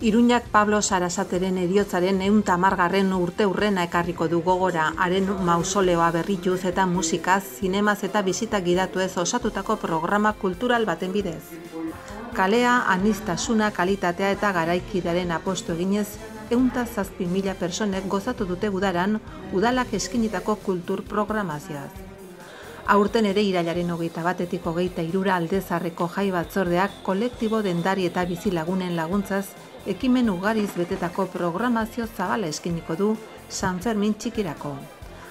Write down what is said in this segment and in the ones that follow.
Iruñak Pablo Sarasateren heriotzaren 110. urteurrena ekarriko du gogora, haren mausoleoa berrituz eta musikaz, zinemaz eta bisita gidatuez osatutako programa kultural baten bidez. Kalea, aniztasuna, kalitatea eta garaikidaren apostu eginez, 107.000 personek gozatu dute udaran, udalak eskinitako kultur programazioaz. Aurten ere irailaren 21-etik 23 Aldezarreko jai batzordeak kolektibo dendari eta bizilagunen laguntzaz ekimen ugariz betetako programazio zabala eskiniko du San Fermin txikirako.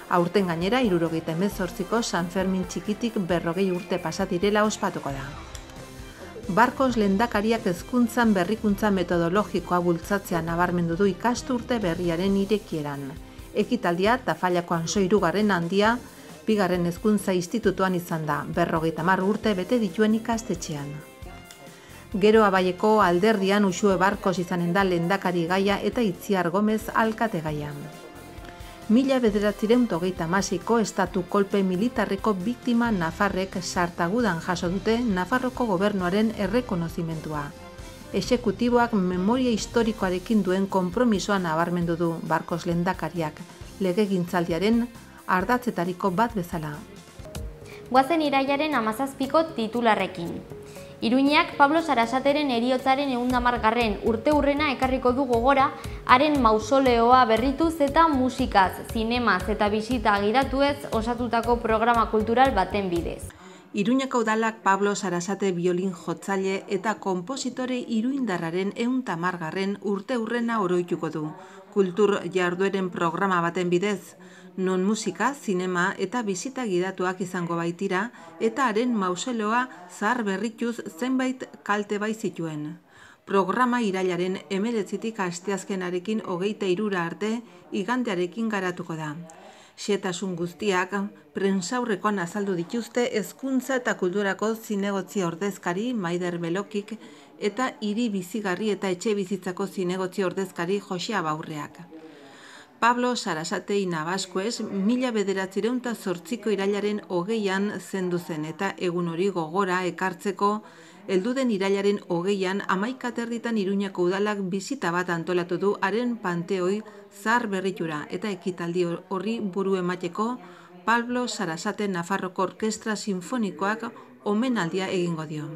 Aurten gainera 78ko San Fermin txikitik 40 urte pasatirela ospatuko da. Barkos lehendakariak hezkuntzan berrikuntza metodologikoa bultzatzea nabarmendu du ikasturte berriaren irekieran. Ekitaldia Tafallako Anso 3. handia, 2. hezkuntza institutuan izan da, 50 urte bete dituen ikastetxean. Gero Abaieko alderdian Uxue Barkos izanen da lehendakari gaia eta Itziar Gomez alkate gaia. 1936ko estatu kolpe militarreko biktima nafarrek sartagudan jaso dute Nafarroko gobernuaren errekonozimentua. Exekutiboak memoria historikoarekin duen konpromisoa nabarmendu du Barkos lehendakariak, legegintzaldiaren ardatzetariko bat bezala. Goazen irailaren 17ko titularrekin. Iruñak Pablo Sarasateren heriotzaren 110. urteurrena ekarriko du gogora, haren mausoleoa berrituz eta musikaz, zinemaz eta bisita gidatuez osatutako programa kultural baten bidez. Iruñako udalak Pablo Sarasate biolin jotzaile eta konpositore iruindarraren 110. urteurrena oroituko du, kultur jardueren programa baten bidez, non musika, zinema eta bisita gidatuak izango baitira eta haren mausoleoa zahar berrituz zenbait kalte bai zituen. Programa irailaren 19tik asteazkenarekin 23 arte igandearekin garatuko da. Xehetasun guztiak prentsaurrekoan azaldu dituzte hezkuntza eta kulturako zinegotzi ordezkari Maider Belokik eta hiri bizigarri eta etxe bizitzako zinegotzi ordezkari Jose Abaurreak. Pablo Sarasate Inabaskuez 1908ko irailaren 20an zendu zen eta egun hori gogora ekartzeko helduden irailaren 20an 11:30 Iruñako udalak bisita bat antolatu du haren panteoi zahar berritura eta ekitaldi horri buru emateko Pablo Sarasate Nafarroko Orkestra Sinfonikoak omenaldia egingo dio.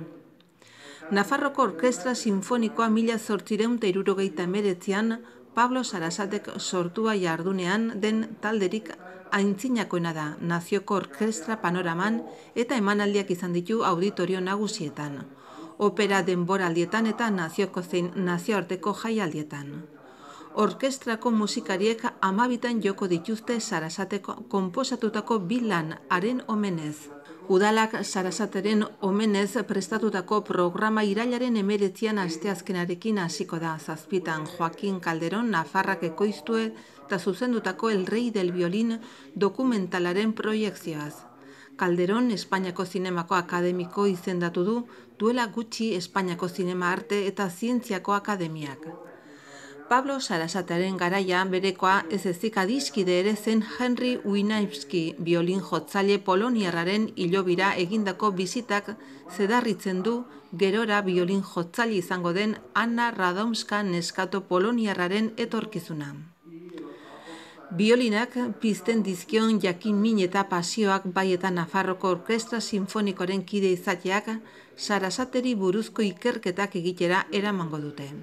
Nafarroko Orkestra Sinfonikoa 1879an Pablo Sarasatek sortua jardunean den talderik aintzinakoena da, nazioko orkestra panoraman eta emanaldiak izan ditu auditorio nagusietan, opera denboraldietan eta nazioko zein nazioarteko jaialdietan. Orkestrako musikariek 12 joko dituzte Sarasateko konposatutako 2 lan haren omenez. Udalak Sarasateren omenez prestatutako programa irailaren 19an asteazkenarekin hasiko da, 7 Joaquin Calderón Nafarrak ekoiztu eta zuzendutako El Rey del Violín dokumentalaren proiekzioaz. Calderón Espainiako Zinemako Akademiko izendatu du duela gutxi Espainiako Zinema Arte eta Zientziako Akademiak. Pablo Sarasateren garaia berekoa ez ezik adiskide ere zen Henry Wieniawski biolin jotzaile poloniarraren hilobira egindako bizitak zedarritzen du gerora biolin jotzaile izango den Anna Radomska neskato poloniarraren etorkizuna. Biolinak pizten dizkion jakin-min eta pasioak bai eta Nafarroko Orkestra Sinfonikoaren kide izateak Sarasateri buruzko ikerketak egitera eramango dute.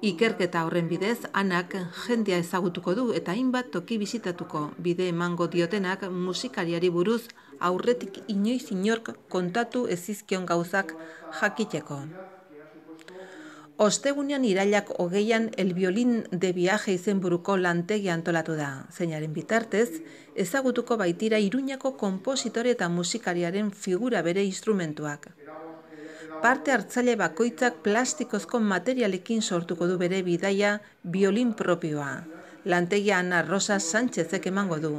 Ikerketa horren bidez, Anak jendea ezagutuko du eta hainbat toki bizitatuko, bide emango diotenak musikariari buruz aurretik inoiz inork kontatu ezizkion gauzak jakiteko. Ostegunean irailak 20an El Violín de Viaje izenburuko lantegia antolatu da, zeinaren bitartez, ezagutuko baitira Iruñako konpositore eta musikariaren figura bere instrumentuak. Parte hartzaile bakoitzak plastikozko materialekin sortuko du bere bidaia biolin propioa. Lantegia Ana Rosa Sánchezek emango du.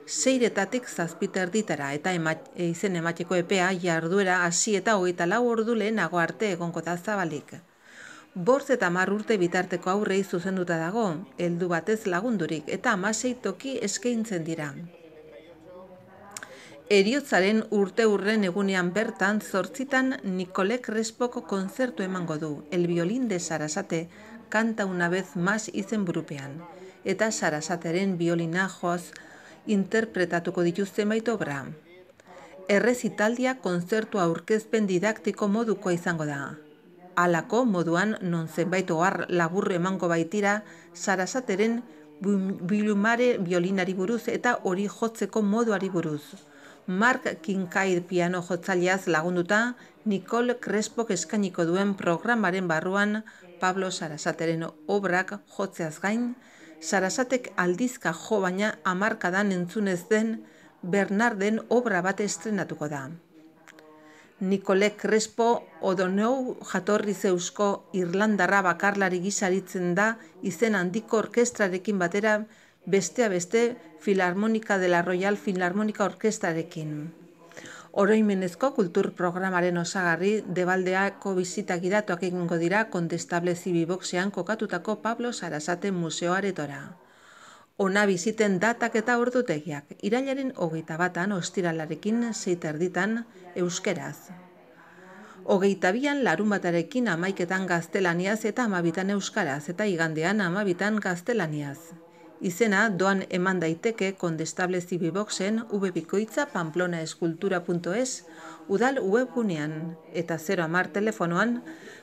6-etatik 7 eta izen emateko epea jarduera hasi eta 24 ordu lehenago arte egongo da zabalik. 5 eta 10 urte bitarteko aurrei zuzenduta dago, heldu batez lagundurik eta 16 toki eskaintzen dira. Heriotzaren urteurren egunean bertan 8 Nicole Crespoko kontzertu emango du, El violín de Sarasate, Canta una vez más izenburupean, eta Sarasateren biolina joz interpretatuko dituzte zenbait obra. Errezitaldia kontzertua aurkezpen didaktiko modukoa izango da. Halako moduan non zenbait ohar laburro emango baitira Sarasateren bilumare biolinari buruz eta hori jotzeko moduari buruz. Mark Kincaid piano jotzaileaz lagunduta, Nicole Crespok eskainiko duen programaren barruan Pablo Sarasateren obrak jotzeaz gain, Sarasatek aldizka jo baina hamarkadan entzunez den Bernarden obra bat estrenatuko da. Nicole Crespo O'Donoghue jatorriz eusko Irlandarra bakarlari gisaritzen da izen handiko orkestrarekin batera, bestea beste Filarmonika de la Royal Filarmonika Orkestrarekin. Oroimenezko kultur programaren osagarri Debaldeako bisita gidatuak egingo dira Condestable Zibiboxean kokatutako Pablo Sarasate museoaretora. Ona biziten datak eta ordutegiak, irailaren 21 ostiralarekin 6:30 euskeraz. 22an larunbatarekin 11etan gaztelaniaz eta 12etan euskaraz, eta igandean 12etan gaztelaniaz. Izena doan eman daiteke Condestable Zibiboxen www.pamplona.eskultura.es udal webgunean eta 010 telefonoan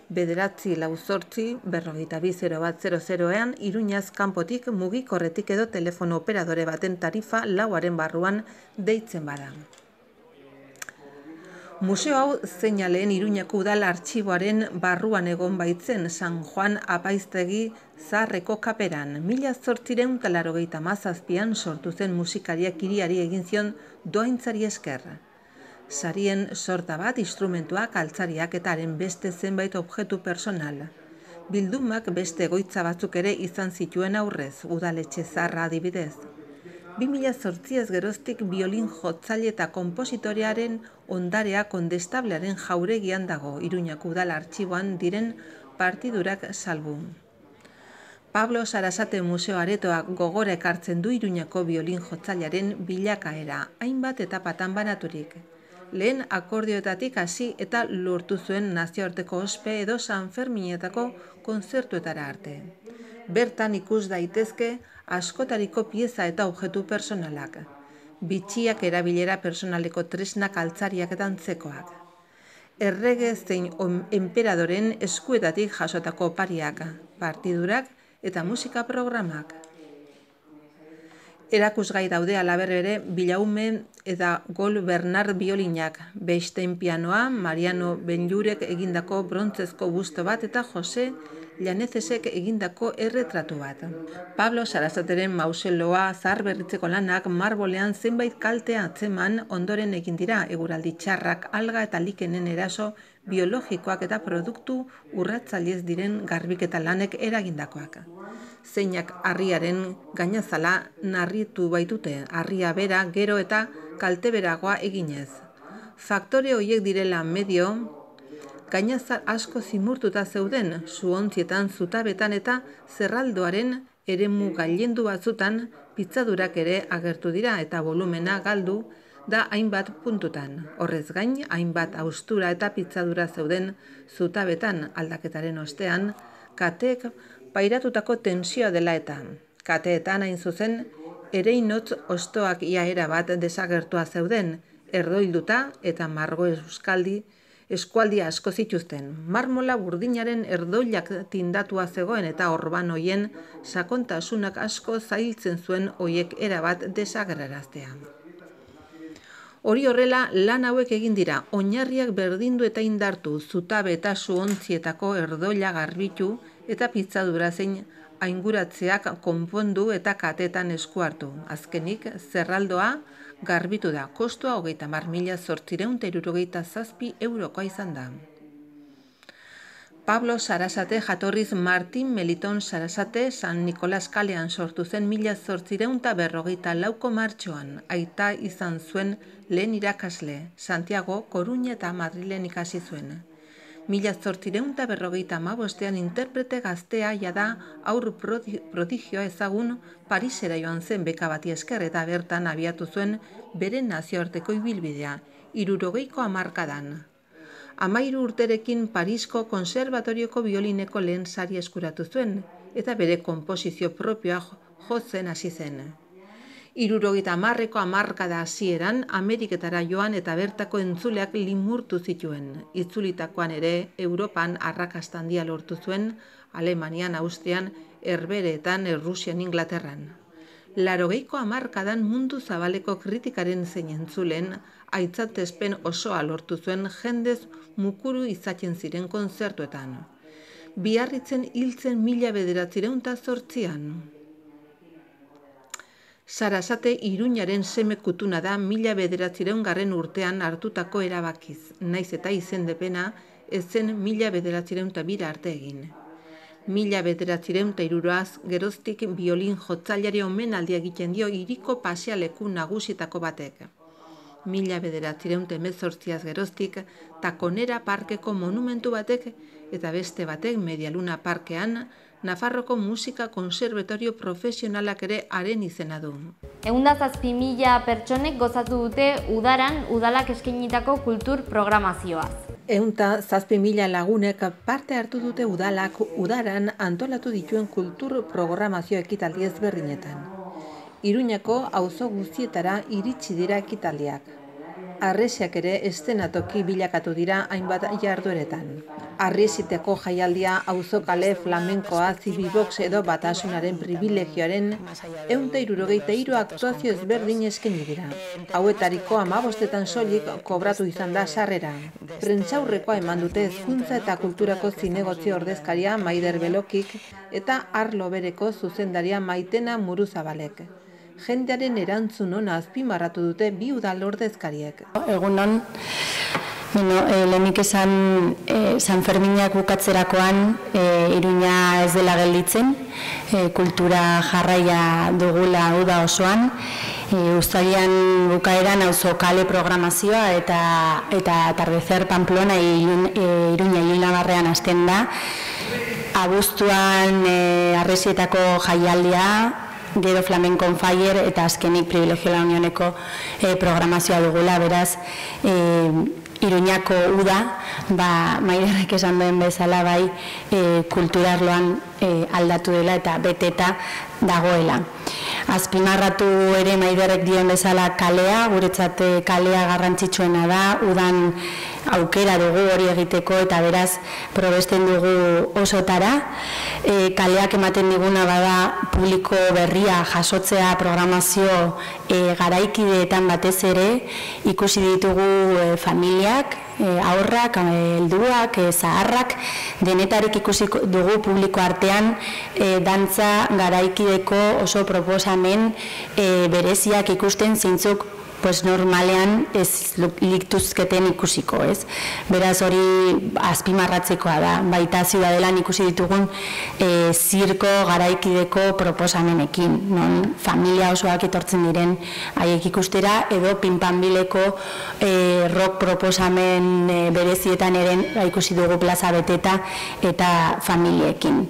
948 42 Iruñaz kanpotik mugikorretik edo telefono operadore baten tarifa 4aren barruan deitzen bada. Museo hau zeinaleen Iruñako udal artxiboaren barruan egon baitzen San Juan Apaiztegi zaharreko kaperan. 1887an sortu zen musikariak hiriari egin zion doaintzari esker. Sarien sorta bat, instrumentuak, altzariak eta haren beste zenbait objektu personal. Bildumak beste egoitza batzuk ere izan zituen aurrez, udaletxe zaharra adibidez. 2008 geroztik biolin jotzaile eta konpositorearen ondarea Condestablearen jauregian dago, Iruñako udal artxiboan diren partidurak salbu. Pablo Sarasate museo aretoak gogora ekartzen du Iruñako biolin jotzailearen bilakaera, hainbat etapatan banaturik. Lehen akordioetatik hasi eta lortu zuen nazioarteko ospe edo San Ferminetako kontzertuetara arte. Bertan ikus daitezke askotariko pieza eta objektu personalak, bitxiak erabilera personaleko tresnak, altzariak eta antzekoak. Errege zein enperadoren eskuetatik jasotako opariak, partidurak eta musika programak. Erakusgai daude halaber ere Bilaume eta Gol Bernard biolinak, Bestein pianoa, Mariano Benjurek egindako brontzezko busto bat eta Jose Llanezesek egindako erretratu bat. Pablo Sarasateren mausoleoa zaharberritzeko lanak marbolean zenbait kalte atzeman ondoren egin dira, eguraldi txarrak, alga eta likenen eraso biologikoak eta produktu urratzailez diren garbiketa lanek eragindakoak. Zeinak harriaren gainazala narritu baitute, harria bera gero eta kalteberagoa eginez. Faktore horiek direla medio, gainazal asko zimurtuta zeuden, zuontzietan, zutabetan eta zerraldoaren eremu gailendu batzutan pitzadurak ere agertu dira eta volumena galdu da hainbat puntutan. Horrez gain, hainbat haustura eta pitzadura zeuden zutabetan aldaketaren ostean, kateek pairatutako tensioa dela eta. Kateetan hain zuzen, ereinotz ostoak ia erabat desagertua zeuden, erdoilduta eta margo eskualdi asko zituzten. Marmola burdinaren erdoilak tindatua zegoen eta orban hoien sakontasunak asko zailtzen zuen hoiek erabat desagerraraztea. Hori horrela, lan hauek egin dira, oinarriak berdindu eta indartu, zutabe eta zuontzietako erdoila garbitu eta pitzadura zein ainguratzeak konpondu eta katetan esku hartu. Azkenik, zerraldoa garbitu da, kostua 30.867 eurokoa izan da. Pablo Sarasate jatorriz Martin Meliton Sarasate San Nikolas kalean sortu zen 1854ko martxoan. Aita izan zuen lehen irakasle, Santiago, Koruña eta Madrilen ikasi zuen. 1855ean interprete gaztea jada haur prodigioa ezagun Parisera joan zen beka bati esker eta bertan abiatu zuen bere nazioarteko ibilbidea, 60ko hamarkadan. 13 urterekin Parisko konserbatorioko biolineko lehen sari eskuratu zuen eta bere konposizio propioa jotzen hasi zen. 70ko hamarkada hasieran Ameriketara joan eta bertako entzuleak limurtu zituen. Itzulitakoan ere Europan arrakasta handia lortu zuen, Alemanian, Austrian, Herbehereetan, Errusian, Inglaterran. 80ko hamarkadan mundu zabaleko kritikaren zein entzulen aitzatespen osoa lortu zuen jendez mukuru izaten ziren kontzertuetan. Biarritzen hiltzen 1908an. Sarasate Iruñaren seme kutuna da 1909 urtean hartutako erabakiz, naiz eta izendepena ez zen 1902 arte egin. 1903 geroztik biolin jotzaileari omenaldia egiten dio hiriko pasealeku nagusietako batek. 1918 geroztik Takonera parkeko monumentu batek eta beste batek Medialuna parkean Nafarroko musika konservatorio profesionalak ere haren izena du. 107.000 pertsonek gozatu dute udaran udalak eskainitako kultur programazioaz. 107.000 lagunek parte hartu dute udalak udaran antolatu dituen kultur programazio ekitaldi ezberdinetan. Iruñako auzo guztietara iritsi dira ekitaldiak. Harresiak ere eszenatoki bilakatu dira hainbat jardueretan. Harresiteko jaialdia, auzokale, flamenkoa, zibibox edo batasunaren privilegioaren 163 aktuazio ezberdin eskaini dira. Hauetariko 15etan soilik kobratu izan da sarrera. Prentsaurrekoa eman dute hezkuntza eta kulturako zinegotzi ordezkaria Maider Belokik eta arlo bereko zuzendaria Maitena Muruzabalek. Jendearen erantzun ona azpimarratu dute bi udal ordezkariek. Egunon, lehenik esan San Ferminak bukatzerakoan Iruña ez dela gelditzen, kultura jarraia dugula uda osoan, uztailean bukaeran auzokale programazioa eta Atardecer Pamplona Iruña Ilunabarrean hasten da, abuztuan Harresietako jaialdia, gero Flamenco on Fire eta azkenik Privilegio la Unioneko programazioa dugula, beraz Iruñako uda, Maiderrek esan duen bezala bai kulturarloan aldatu dela eta beteta dagoela. Azpimarratu ere Maiderrek dien bezala kalea, guretzat kalea garrantzitsuena da, udan aukera dugu hori egiteko eta beraz probesten dugu osotara. Kaleak ematen diguna bada publiko berria jasotzea programazio garaikideetan batez ere, ikusi ditugu familiak, aurrak, helduak, zaharrak, denetarik ikusi dugu publiko artean dantza garaikideko oso proposamen bereziak ikusten zeintzuk normalean ez liktuzketen ikusiko, ez? Beraz hori azpimarratzekoa da, baita ziudadelan ikusi ditugun zirko garaikideko proposamenekin, non familia osoak etortzen diren haiek ikustera, edo pinpanbileko rock proposamen berezietan eren ikusi dugu plaza beteta eta familiekin.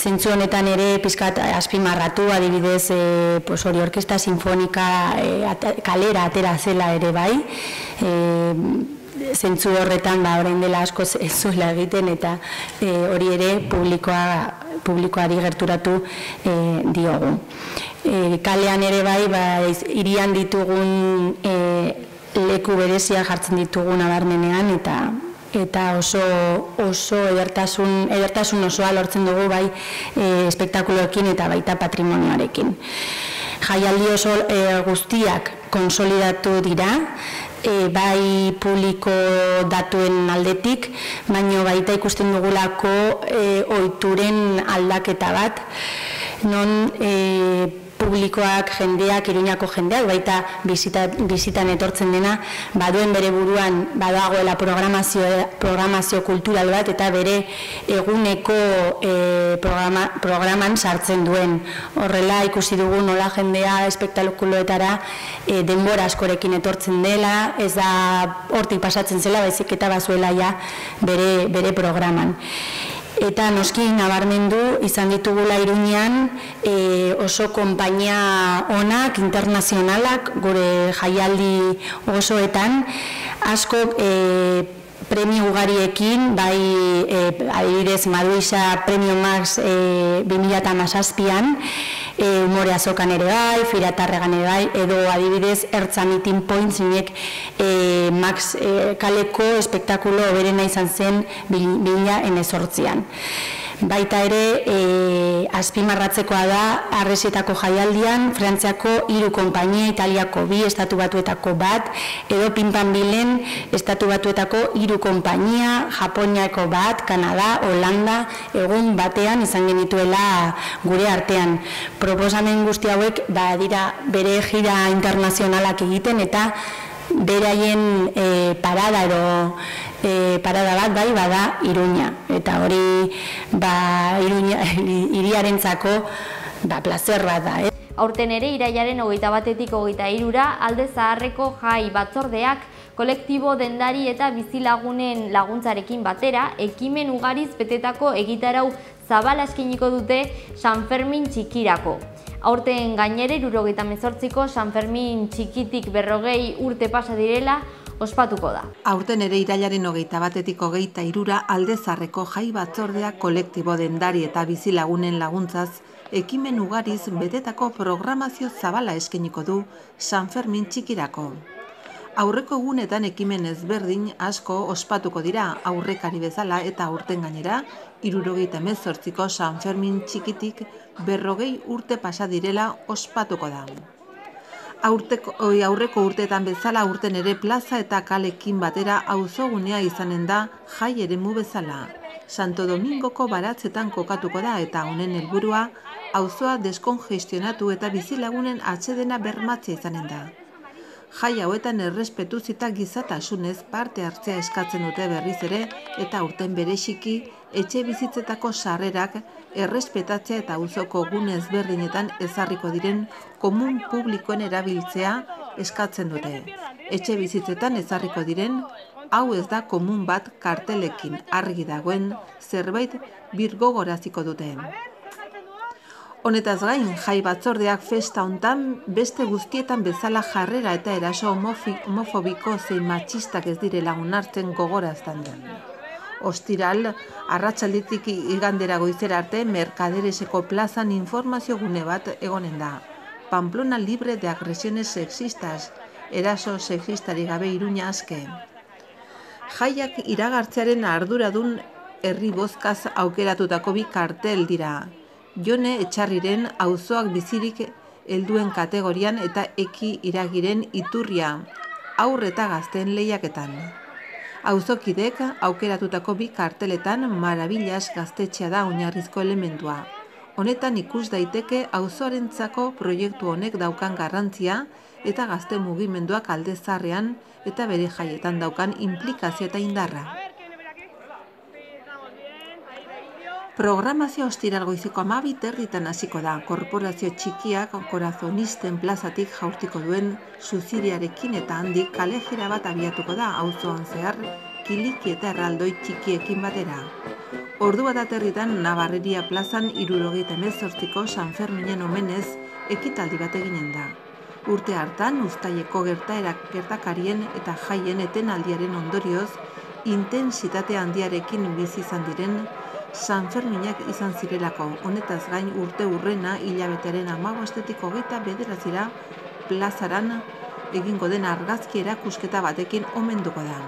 Zentzu honetan ere pizkat azpimarratu, adibidez hori orkesta sinfonika kalera atera zela ere bai, zentzu horretan orain dela asko ez zuela egiten eta hori ere publikoari gerturatu diogu. Kalean ere bai, hirian ditugun leku berezia jartzen ditugu nabarmenean eta oso edertasun osoa lortzen dugu bai espektakuloekin eta baita patrimonioarekin. Jaialdi oso guztiak konsolidatu dira, bai publiko datuen aldetik, baino baita ikusten dugulako ohituren aldaketa bat, non publikoak, jendeak, Iruñako jendeak, baita bizitan etortzen dena, baduen bere buruan badagoela programazio kultural bat eta bere eguneko programan sartzen duen. Horrela ikusi dugu nola jendea espektakuloetara denbora askorekin etortzen dela, ez da hortik pasatzen zela, baizik eta bazuela ja bere programan. Eta noski nabarmendu izan ditugula Iruñean oso konpainia onak, internazionalak, gure jaialdi osoetan, asko premio ugariekin, bai adibidez Maduisa Premio Max 2017an, Umore Azokan ere bai, Firatarregan ere bai, edo adibidez Ertza Meeting Point zinek Max kaleko espektakulo berena izan zen 2018an. Baita ere, azpimarratzekoa da, Arresietako jaialdian, Frantziako 3 konpainia, Italiako 2, Estatu Batuetako 1, edo Pinpanbilen, Estatu Batuetako 3 konpainia, Japoniako 1, Kanada, Holanda, egun batean izan genituela gure artean. Proposamen guzti hauek dira bere gira internazionalak egiten eta beraien parada edo parada bat bai bada Iruña, eta hori hiriarentzako plazer bat da. Aurten ere irailaren 21-tik 23ra Alde Zaharreko Jai Batzordeak kolektibo dendari eta bizilagunen laguntzarekin batera ekimen ugariz betetako egitarau zabala eskainiko dute San Fermin txikirako. Aurten gainere 78ko San Fermin txikitik 40 urte pasa direla ospatuko da. Aurten ere irailaren 21-tik 23ra Alde Zaharreko Jai Batzordea kolektibo dendari eta bizilagunen laguntzaz ekimen ugariz betetako programazio zabala eskainiko du San Fermin txikirako. Aurreko egunetan ekimen ezberdin asko ospatuko dira aurrekari bezala eta aurten gainera 78ko San Fermin txikitik 40 urte pasa direla ospatuko da. Aurreko urteetan bezala aurten ere plaza eta kalekin batera auzogunea izanen da jai eremu bezala. Santo Domingoko baratzetan kokatuko da eta honen helburua auzoa deskongestionatu eta bizilagunen atsedena bermatzea izanen da. Jai hauetan errespetuz eta gizatasunez parte hartzea eskatzen dute berriz ere eta aurten bereziki etxe bizitzetako sarrerak errespetatzea eta auzoko gune ezberdinetan ezarriko diren komun publikoen erabiltzea eskatzen dute. Etxe bizitzetan ezarriko diren hau ez da komun bat kartelekin argi dagoen zerbait birgogoraziko dute. Honetaz gain, Jai Batzordeak festa hontan beste guztietan bezala jarrera eta eraso homofobiko zein matxistak ez direla onartzen gogorazten den. Ostiral, arratsaldetik igandera goizera arte, Mercadereseko plazan informazio gune bat egonen da. Pamplona libre de agresiones sexistas, eraso sexistari gabe Iruña aske. Jaiak iragartzearen arduradun herri bozkaz aukeratutako 2 kartel dira. Jone Etxarriren auzoak bizirik helduen kategorian eta Eki Iragiren iturria, haur eta gazteen lehiaketan. Auzokidek aukeratutako 2 karteletan Marabillas gaztetxea da oinarrizko elementua. Honetan ikus daiteke auzoarentzako proiektu honek daukan garrantzia eta gazte mugimenduak Alde Zaharrean eta bere jaietan daukan inplikazio eta indarra. Programazio ostiral goizeko 12:30 hasiko da. Korporazio txikiak Korazonisten plazatik jaurtiko duen suziriarekin eta handik kalejira bat abiatuko da auzoan zehar kiliki eta erraldoi txikiekin batera. Ordu bat aterritan Navarreria plazan 78ko San Ferminen omenez ekitaldi bat eginen da. Urte hartan uztaileko gertakarien eta jaien etenaldiaren ondorioz intensitate handiarekin bizi izan diren San Ferminak izan zirelako. Honetaz gain urte hurrena hilabetearen 15-tik 29ra plazaran egingo den argazki erakusketa batekin omenduko da.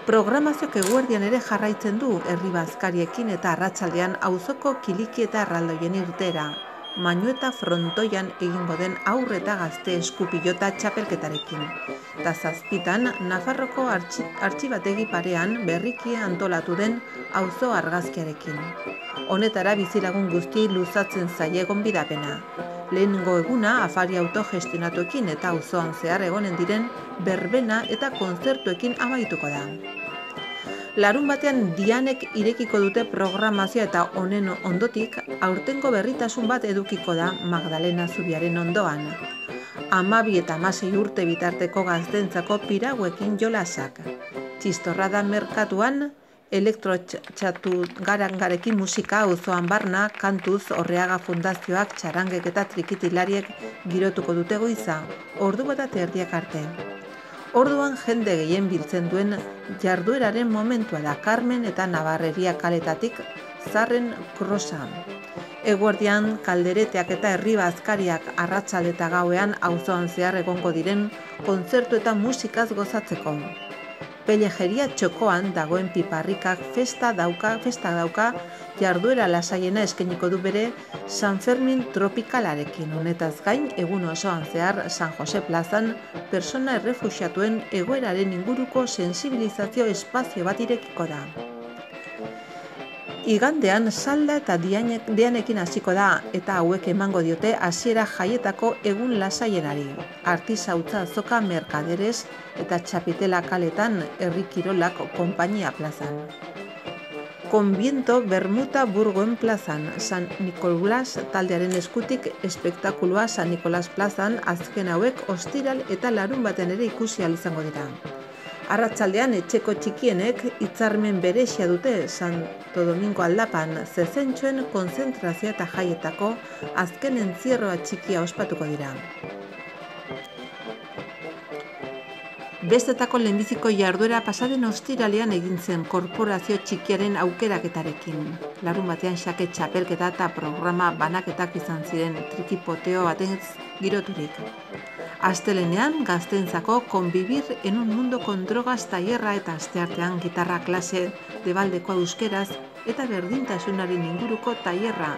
Programazioak eguerdian ere jarraitzen du herri bazkariekin eta arratsaldean auzoko kiliki eta erraldoien irtera. Manueta frontoian egingo den haur eta gazte eskupilota txapelketarekin. Eta 7 Nafarroko artxibategi parean berriki antolatu den auzo argazkiarekin. Honetara bizilagun guztiei luzatzen zaie gonbidapena. Lehenengo eguna afari autogestionatuekin eta auzoan zehar egonen diren berbena eta kontzertuekin amaituko da. Larun batean Dianek irekiko dute programazioa eta honen ondotik aurtengo berritasun bat edukiko da Magdalena Zubiaren ondoan. 12 eta 16 urte bitarteko gaztentzako piraguekin jolasak. Txistorrada merkatuan, elektrotxatu garangarekin musika auzoan barna, kantuz Orreaga Fundazioak txarangek eta trikitilariek girotuko dute goiza, ordu bat eta erdiak arte. Orduan jende gehien biltzen duen jardueraren momentua da Carmen eta Navarreria kaletatik Zarren krosa. Eguerdian kaldereteak eta herri bazkariak arratsalde eta gauean auzoan zehar egongo diren kontzertu eta musikaz gozatzeko. Pelejeria txokoan dagoen piparrikak festa dauka jarduera lasaiena eskainiko du bere San Fermin tropikalarekin. Honetaz gain, egun osoan zehar San Jose plazan persona errefuxiatuen egoeraren inguruko sensibilizazio espazio bat irekiko da. Igandean salda eta Dianekin hasiko da eta hauek emango diote hasiera jaietako egun lasaienari. Artisautza azoka merkaderez eta txapitela kaletan herri kirolak konpainia plazan. Konbiento Bermuta Burgoen plazan, San Nikolas taldearen eskutik espektakulua San Nikolas plazan azken hauek ostiral eta larun baten ere ikusi ahal izango dira. Arratsaldean etxeko txikienek hitzarmen berezia dute Santo Domingo aldapan zezentxoen konzentrazioa eta jaietako azken entzierroa txikia ospatuko dira. Bestetako lehenbiziko jarduera pasaden ostiralean egin zen korporazio txikiaren aukeraketarekin. Larun batean xake txapelketa eta programa banaketak izan ziren trikipoteo baten giroturik. Astelenean gazteentzako Convivir en un mundo con drogas tailerra eta asteartean gitarra klase debaldeko euskeraz eta berdintasunaren inguruko tailerra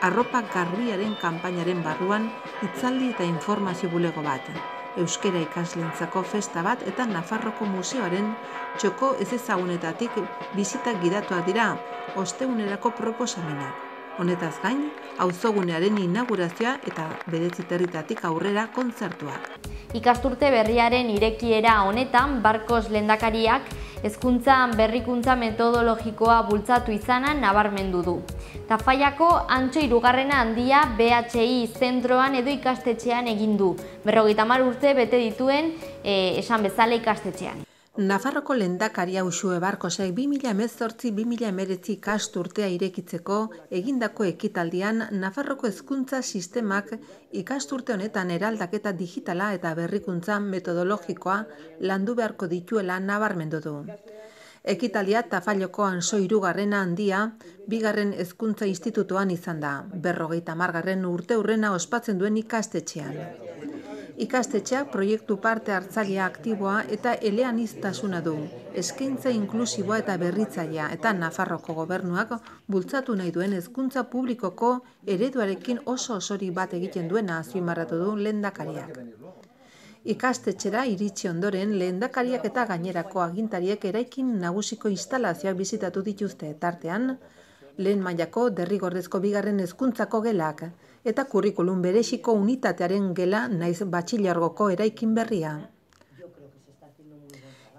arropa garbiaren kanpainaren barruan hitzaldi eta informazio bulego bat. Euskera ikasleentzako festa bat eta Nafarroko museoaren txoko ezezagunetatik bizitak gidatuak dira ostegunerako proposamenak. Honetaz gain, auzogunearen inaugurazioa eta Bedeziterritatik aurrera kontzertuak. Ikasturte berriaren irekiera honetan, Barkos lehendakariak hezkuntzan berrikuntza metodologikoa bultzatu izana nabarmendu du. Tafallako Antxo 3. handia BHI zentroan edo ikastetxean egin du. 50 urte bete dituen esan bezala ikastetxean. Nafarroko lehendakaria Uxue Barkosek 2018-2019 ikasturtea irekitzeko egindako ekitaldian Nafarroko hezkuntza sistemak ikasturte honetan eraldaketa digitala eta berrikuntza metodologikoa landu beharko dituela nabarmendu du. Ekitaldia Tafalloko Antxo 3. handia 2. hezkuntza institutoan izan da, 50. urteurrena ospatzen duen ikastetxean. Ikastetxeak proiektu parte hartzailea aktiboa eta eleaniztasuna du, eskaintza inklusiboa eta berritzailea eta Nafarroko gobernuak bultzatu nahi duen hezkuntza publikoko ereduarekin oso osori bat egiten duena azpimarratu du lehendakariak. Ikastetxera iritsi ondoren lehendakariak eta gainerako agintariek eraikin nagusiko instalazioak bizitatu dituzte tartean, lehen mailako derrigorrezko 2. hezkuntzako gelak eta kurrikulum bereziko unitatearen gela naiz batxilergoko eraikin berria.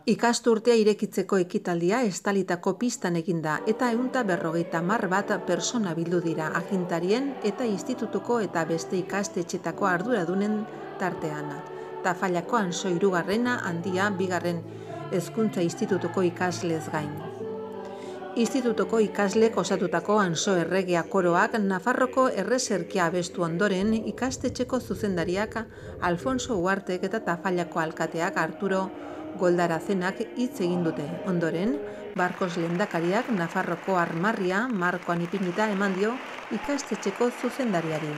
Ikasturtea irekitzeko ekitaldia estalitako pistan eginda eta 150 bat persona bildu dira agintarien eta institutuko eta beste ikastetxetako arduradunen tartean. Tafallako Antxo 3. handia 2. hezkuntza institutuko ikaslez gain. Institutoko ikaslek osatutako Antxo Erregea koroak Nafarroko erreserkia abestu ondoren ikastetxeko zuzendariak Alfonso Uartek eta Tafallako alkateak Arturo Goldarazenak hitz egin dute. Ondoren, Barkos lehendakariak Nafarroko armarria markoan ipinita eman dio ikastetxeko zuzendariari.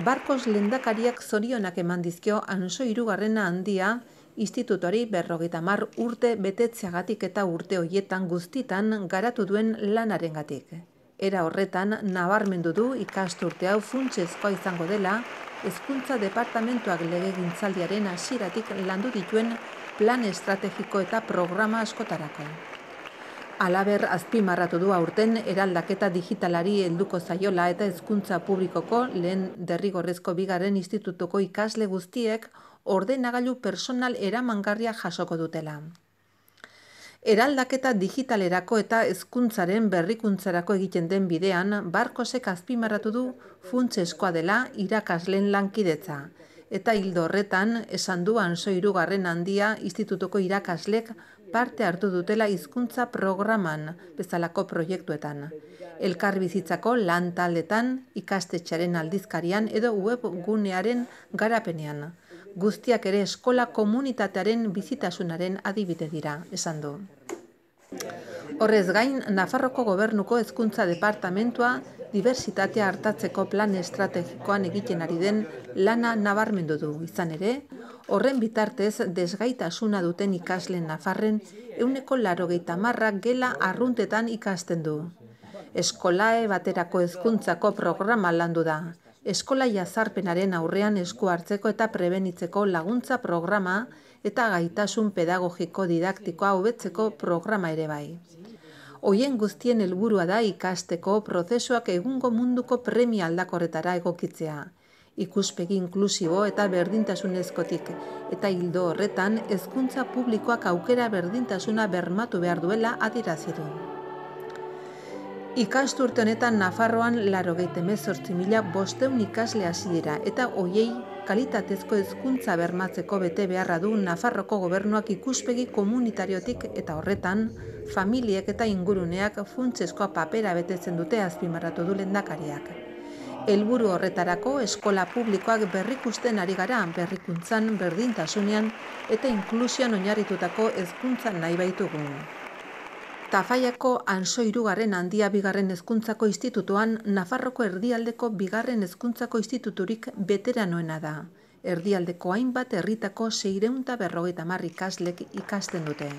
Barkos lehendakariak zorionak eman dizkio Antxo 3. handia institutori 50 urte betetzeagatik eta urte horietan guztitan garatu duen lanarengatik. Era horretan, nabarmendu du ikasturte hau funtsezkoa izango dela, hezkuntza departamentuak legegintzaldiaren hasieratik landu dituen plan estrategiko eta programa askotarako. Halaber, azpimarratu du aurten eraldaketa digitalari helduko zaiola eta hezkuntza publikoko lehen derrigorrezko bigarren institutuko ikasle guztiek ordenagailu personal eramangarria jasoko dutela. Eraldaketa digitalerako eta hezkuntzaren berrikuntzarako egiten den bidean, Barkosek azpimarratu du funtsezkoa dela irakasleen lankidetza. Eta ildo horretan, esan du Anso 3. handia institutuko irakaslek parte hartu dutela hizkuntza programan bezalako proiektuetan. Elkarbizitzako lan taldetan, ikastetxearen aldizkarian edo webgunearen garapenean. Guztiak ere eskola komunitatearen bizitasunaren adibide dira, esan du. Horrez gain, Nafarroko Gobernuko Hezkuntza Departamentua diversitatea hartatzeko plan estrategikoan egiten ari den lana nabarmendu du. Izan ere, horren bitartez desgaitasuna duten ikasleen Nafarren 80% gela arruntetan ikasten du. Eskolae baterako hezkuntzako programa landu da. Eskola jazarpenaren aurrean esku hartzeko eta prebenitzeko laguntza programa eta gaitasun pedagogiko didaktikoa hobetzeko programa ere bai. Hoien guztien helburua da ikasteko prozesuak egungo munduko premia aldakorretara egokitzea. Ikuspegi inklusibo eta berdintasunezkotik, eta ildo horretan hezkuntza publikoak aukera berdintasuna bermatu behar duela adierazi du. Ikasturte honetan Nafarroan 98.500 ikasle hasi dira eta hoiei kalitatezko hezkuntza bermatzeko bete beharra du Nafarroko Gobernuak ikuspegi komunitariotik eta horretan familiek eta inguruneak funtsezkoa papera betetzen dute azpimarratu du lehendakariak. Helburu horretarako eskola publikoak berrikusten ari gara berrikuntzan, berdintasunean eta inklusioan oinarritutako hezkuntzan nahi baitugu. Tafaiako Anso 3. handia bigarren hezkuntzako institutuan Nafarroko erdialdeko bigarren hezkuntzako instituturik beteranoena da. Erdialdeko hainbat herritako 650 ikaslek ikasten dute.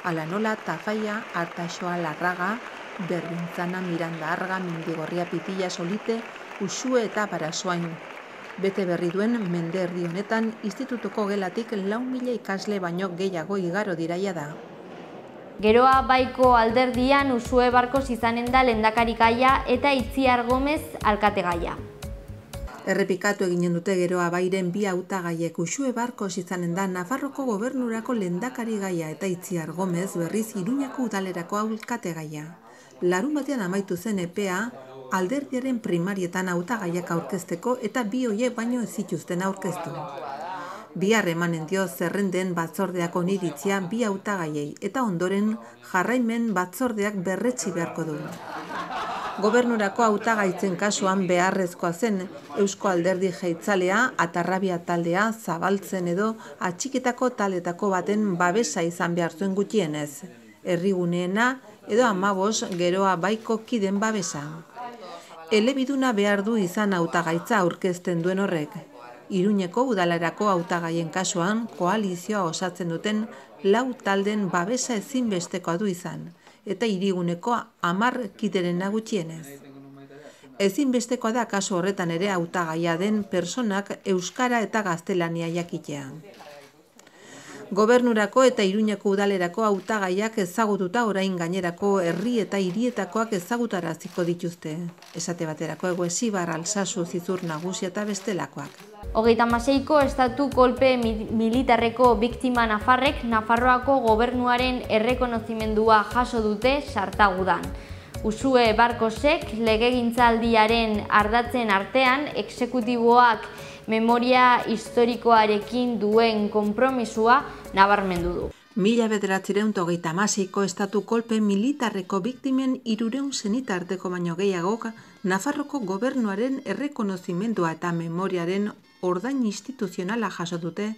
Hala nola Tafaia, Artaxoa, Larraga, Berdintzana, Miranda Arga, Mendigorria, Pitilla, Solite, Uxue eta Barasoain. Bete berri duen mende erdi honetan institutuko gelatik 4.000 ikasle baino gehiago igaro diraia da. Geroa Baiko alderdian Uxue Barkos izanen da lehendakarigaia eta Itziar Gomez alkategaia. Errepikatu eginen dute Geroa Bairen bi hautagaiek. Uxue Barkos izanen da Nafarroko Gobernurako lehendakarigaia eta Itziar Gomez berriz Iruñako udalerako alkategaia. Larunbatean amaitu zen epea alderdiaren primarietan hautagaiak aurkezteko eta bi hoiek baino ez zituzten aurkeztu. Bihar emanen dio zerrenden batzordeak oniritzia bi hautagaiei eta ondoren jarraimen batzordeak berretsi beharko du. Gobernurako hautagaitzen kasuan beharrezkoa zen Eusko Alderdi Jeltzalea, Atarrabia taldea, Zabaltzen edo atxikitako taldetako baten babesa izan behar zuen gutxienez. Herriguneena edo 15 Geroa Baiko kiden babesa. Elebiduna behar du izan hautagaitza aurkezten duen horrek. Iruñeko udalerako hautagaien kasuan koalizioa osatzen duten 4 talden babesa ezinbestekoa du izan, eta hiriguneko 10 kiderena gutxienez. Ezinbestekoa da kasu horretan ere hautagaia den pertsonak euskara eta gaztelania jakitea. Gobernurako eta Iruñeko udalerako hautagaiak ezagututa orain gainerako herri eta hirietakoak ezagutaraziko dituzte. Esate baterako Eguesibar, Alsasu, Zizur Nagusia eta bestelakoak. 36ko estatu kolpe militarreko biktima nafarrek Nafarroako gobernuaren errekonozimendua jaso dute Sartagudan. Uxue Barkosek legegintzaldiaren ardatzen artean exekutiboak memoria historikoarekin duen konpromisua nabarmendu du. 1936ko estatu kolpe militarreko biktimen 300 senitarteko baino gehiagok Nafarroko gobernuaren errekonozimendua eta memoriaren ordain instituzionala jaso dute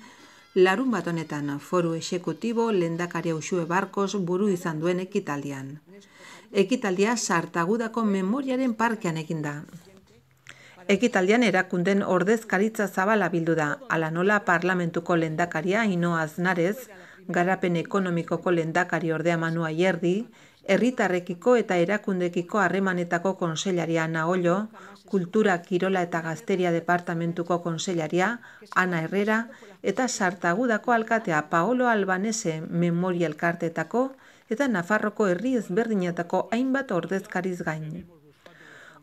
larunbat honetan foru exekutibo lehendakari Uxue Barkos buru izan duen ekitaldian. Ekitaldia Sartagudako memoriaren parkean egin da. Ekitaldian erakunden ordezkaritza zabala bildu da, hala nola parlamentuko lehendakaria Ainhoa Aznarez, garapen ekonomikoko lehendakari ordea Manu Ayerdi, herritarrekiko eta erakundekiko harremanetako kontseilaria Ana Ollo, kultura, kirola eta gazteria departamentuko kontseilaria Ana Herrera eta Sartagudako alkatea Paolo Albanese memoria elkarteetako eta Nafarroko herri ezberdinetako hainbat ordezkariz gain.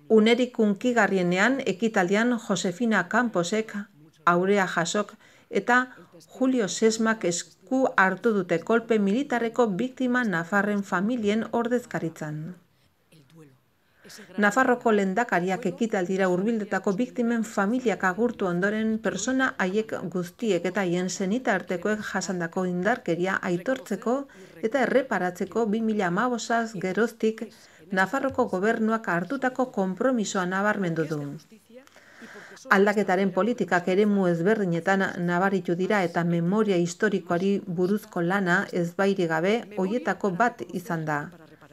Unerik hunkigarrienean ekitaldian Josefina Camposek, Aurea Jasok eta Julio Sesmak esku hartu dute kolpe militarreko biktima nafarren familien ordezkaritzan. Nafarroko lehendakariak ekitaldira hurbildutako biktimen familiak agurtu ondoren persona haiek guztiek eta haien senitartekoek jasandako indarkeria aitortzeko eta erreparatzeko 2015 geroztik Nafarroko gobernuak hartutako konpromisoa nabarmendu du. Aldaketaren politikak eremu ezberdinetan nabaritu dira eta memoria historikoari buruzko lana ezbairik gabe hoietako bat izan da.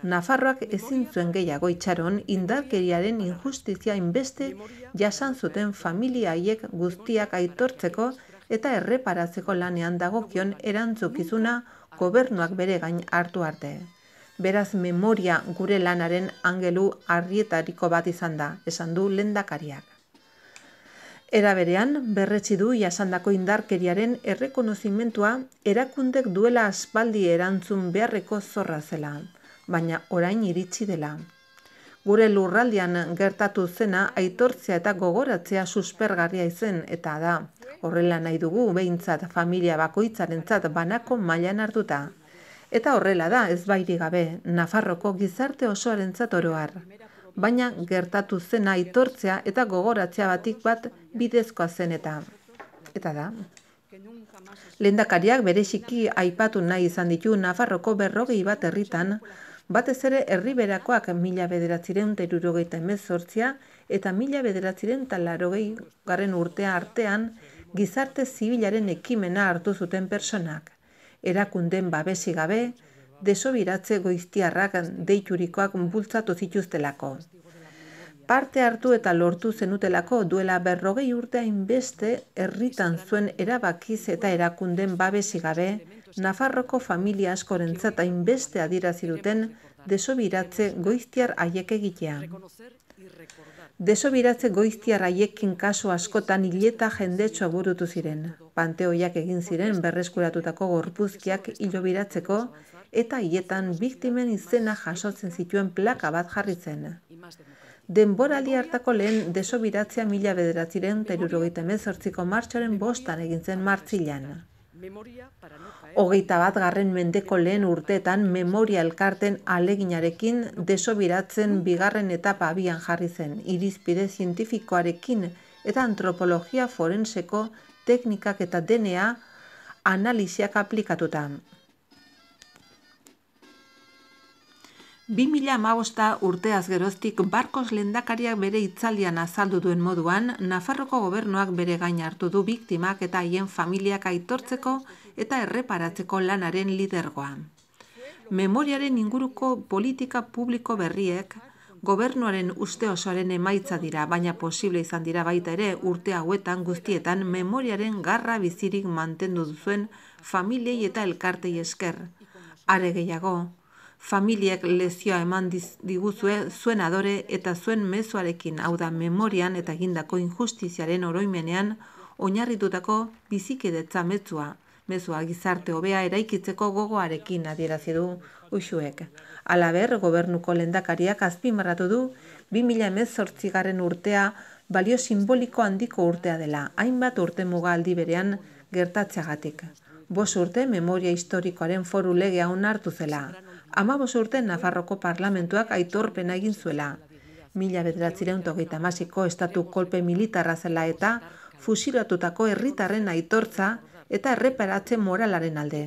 Nafarroak ezin zuen gehiago itxaron indarkeriaren injustizia inbeste jasan zuten familia haiek guztiak aitortzeko eta erreparatzeko lanean dagokion erantzukizuna gobernuak bere gain hartu arte. Beraz, memoria gure lanaren angelu arrietariko bat izan da, esan du lehendakariak. Era berean, berretsi du jasandako indarkeriaren errekonozimentua erakundek duela aspaldi erantzun beharreko zorra zela, baina orain iritsi dela. Gure lurraldean gertatu zena aitortzea eta gogoratzea suspergarria izen eta da. Horrela nahi dugu behintzat familia bakoitzarentzat banako mailan hartuta. Eta horrela da ezbairik gabe Nafarroko gizarte osoarentzat oro har. Baina gertatu zena aitortzea eta gogoratzea batik bat bidezkoa zen eta da. Lehendakariak bereziki aipatu nahi izan ditu Nafarroko 40 bat herritan, batez ere herriberakoak 1978 eta 1980 urtea artean gizarte zibilaren ekimena hartu zuten personak. Erakunden babesi gabe, desobiratze goiztiarrak deiturikoak bultzatu zituztelako. Parte hartu eta lortu zenutelako duela 40 urte hainbeste herritan zuen erabakiz eta erakunden babesi gabe, Nafarroko familia askorentzat hainbeste adierazi duten desobiratze goiztiar haiek egitea. Desobiratze goiztiar haiekin kasu askotan hileta jendetsua burutu ziren. Panteoiak egin ziren berreskuratutako gorpuzkiak hilobiratzeko eta hiletan biktimen izena jasotzen zituen plaka bat jarri zen. Denboraldi hartako lehen desobiratzea 1978ko martxoaren 5 egin zen Martzilan. 21. mendeko lehen urteetan memoria elkarten aleginarekin desobiratzen bigarren etapa abian jarri zen, irizpide zientifikoarekin eta antropologia forenseko teknikak eta DNA analisiak aplikatuta. 2015 urteaz geroztik Barkos lehendakariak bere hitzaldian azaldu duen moduan, Nafarroko gobernuak bere gain hartu du biktimak eta haien familiak aitortzeko eta erreparatzeko lanaren lidergoa. Memoriaren inguruko politika publiko berriek gobernuaren uste osoaren emaitza dira, baina posible izan dira baita ere urte hauetan guztietan memoriaren garra bizirik mantendu duzuen familiei eta elkartei esker. Are gehiago, familiek lezioa eman diguzue zuen adore eta zuen mezuarekin, hau da memorian eta egindako injustiziaren oroimenean oinarritutako bizikidetza mezua gizarte hobea eraikitzeko gogoarekin adierazi du Uxuek. Halaber, gobernuko lehendakariak azpimarratu du 2018 urtea balio simboliko handiko urtea dela, hainbat urte muga aldi berean gertatzeagatik. 5 urte memoria historikoaren foru legea onartu zela. 15 urte Nafarroko parlamentuak aitorpena egin zuela. 1938ko estatu kolpe militarra zela eta fusilatutako herritarren aitortza eta erreparatze moralaren alde.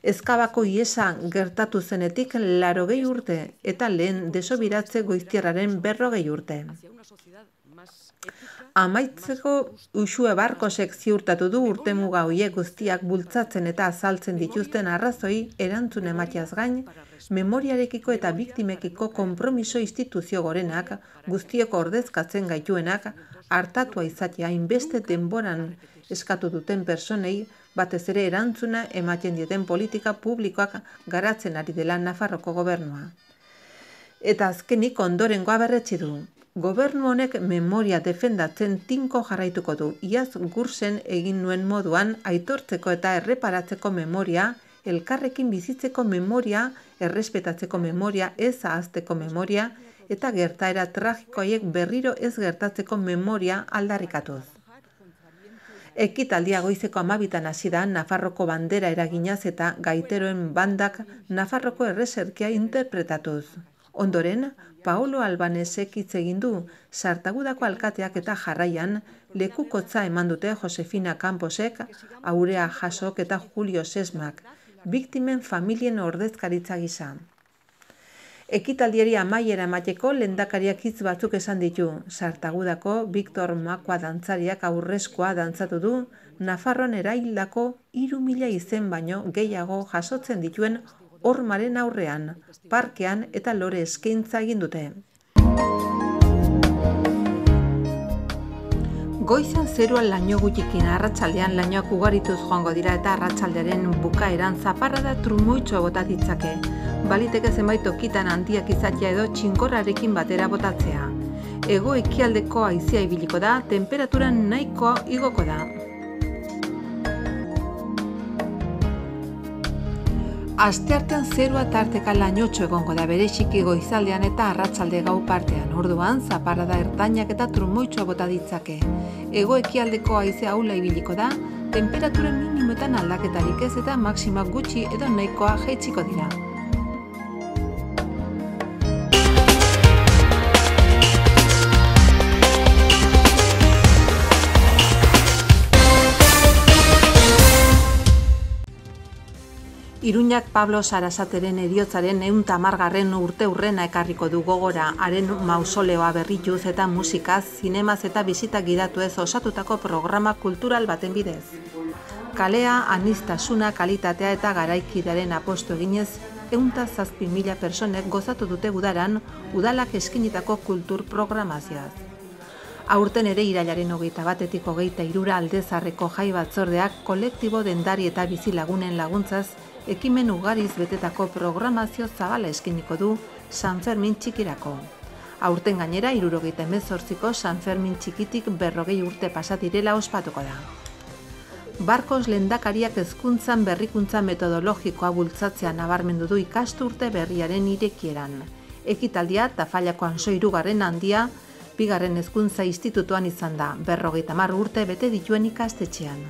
Ezkabako ihesa gertatu zenetik 80 urte eta lehen desobiratze goiztiarraren 40 urte. Amaitzeko Uxue Barkosek ziurtatu du urtemuga horiek guztiak bultzatzen eta azaltzen dituzten arrazoi erantzun emateaz gain, memoriarekiko eta biktimekiko konpromiso instituzio gorenak, guztiok ordezkatzen gaituenak, hartatua izatea hainbeste denboran eskatu duten personei, batez ere erantzuna ematen dieten politika publikoak garatzen ari dela Nafarroko gobernua. Eta azkenik ondorengoa berretsi du. Gobernu honek memoria defendatzen tinko jarraituko du, iaz Gursen egin nuen moduan aitortzeko eta erreparatzeko memoria elkarrekin bizitzeko memoria, errespetatzeko memoria, ez ahazteko memoria, eta gertaera tragikoiek berriro ez gertatzeko memoria aldarrikatuz. Ekitaldia goizeko 12 hasi da Nafarroko bandera eraginaz eta gaiteroen bandak Nafarroko erreserkia interpretatuz. Ondoren, Paolo Albanesek hitz egin du, Sartagudako alkateak eta jarraian lekukotza eman dute Josefina Camposek, Aurea Jasok eta Julio Sesmak, biktimen familien ordezkaritza gisa. Ekitaldiari amaiera emateko lehendakariak hitz batzuk esan ditu. Sartagudako Victor Makua dantzariak aurrezkoa dantzatu du, Nafarroan eraildako 3.000 izen baino gehiago jasotzen dituen hormaren aurrean, parkean eta lore eskaintza egin dute. Goizan zeruan laino gutxikin, arratsaldean lainoak ugarituz joango dira eta arratsaldearen bukaeran zaparrada trumoitxo bota ditzake. Baliteke zenbait tokitan handiak izatea edo txinkorrarekin batera botatzea. Hego-ekialdeko haizea ibiliko da, temperatura nahikoa igoko da. Asteartean zerua tarteka lainotxo egongo da bereziki goizaldean eta arratsalde gau partean. Orduan, zaparrada ertainak eta trumoitxoa bota ditzake. Hego-ekialdeko haizea ahula ibiliko da, temperatura minimoetan aldaketarik ez eta maksima gutxi edo nahikoa jaitsiko dira. Iruñak Pablo Sarasateren heriotzaren 110. urteurrena ekarriko du gogora, haren mausoleoa berrituz eta musikaz, zinemaz eta bisita gidatuez osatutako programa kultural baten bidez. Kalea, aniztasuna, kalitatea eta garaikidaren apostu eginez, 107.000 personek gozatu dute udaran, udalak eskinitako kultur programazioaz. Aurten ere irailaren 21-etik 23 aldezarreko jai batzordeak kolektibo dendari eta bizilagunen laguntzaz ekimen ugariz betetako programazio zabala eskiniko du San Fermin txikirako. Aurten gainera 78ko San Fermin txikitik 40 urte pasatirela ospatuko da. Barkos lehendakariak hezkuntzan berrikuntza metodologikoa bultzatzea nabarmendu du ikasturte berriaren irekieran. Ekitaldia Tafallako Anso 3. handia, 2. hezkuntza institutuan izan da, 50 urte bete dituen ikastetxean.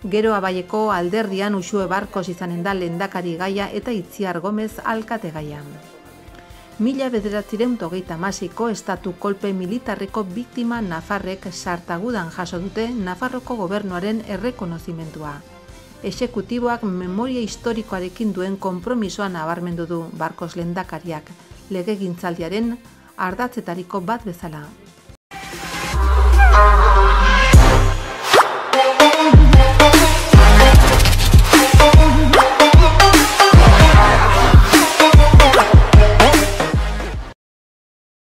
Gero Abaieko alderdian Uxue Barkos izanen da lehendakari gaia eta Itziar Gomez alkate gaia. 1936ko estatu kolpe militarreko biktima nafarrek Sartagudan jaso dute Nafarroko gobernuaren errekonozimendua. Exekutiboak memoria historikoarekin duen konpromisoa nabarmendu du Barkos lehendakariak, legegintzaldiaren ardatzetariko bat bezala.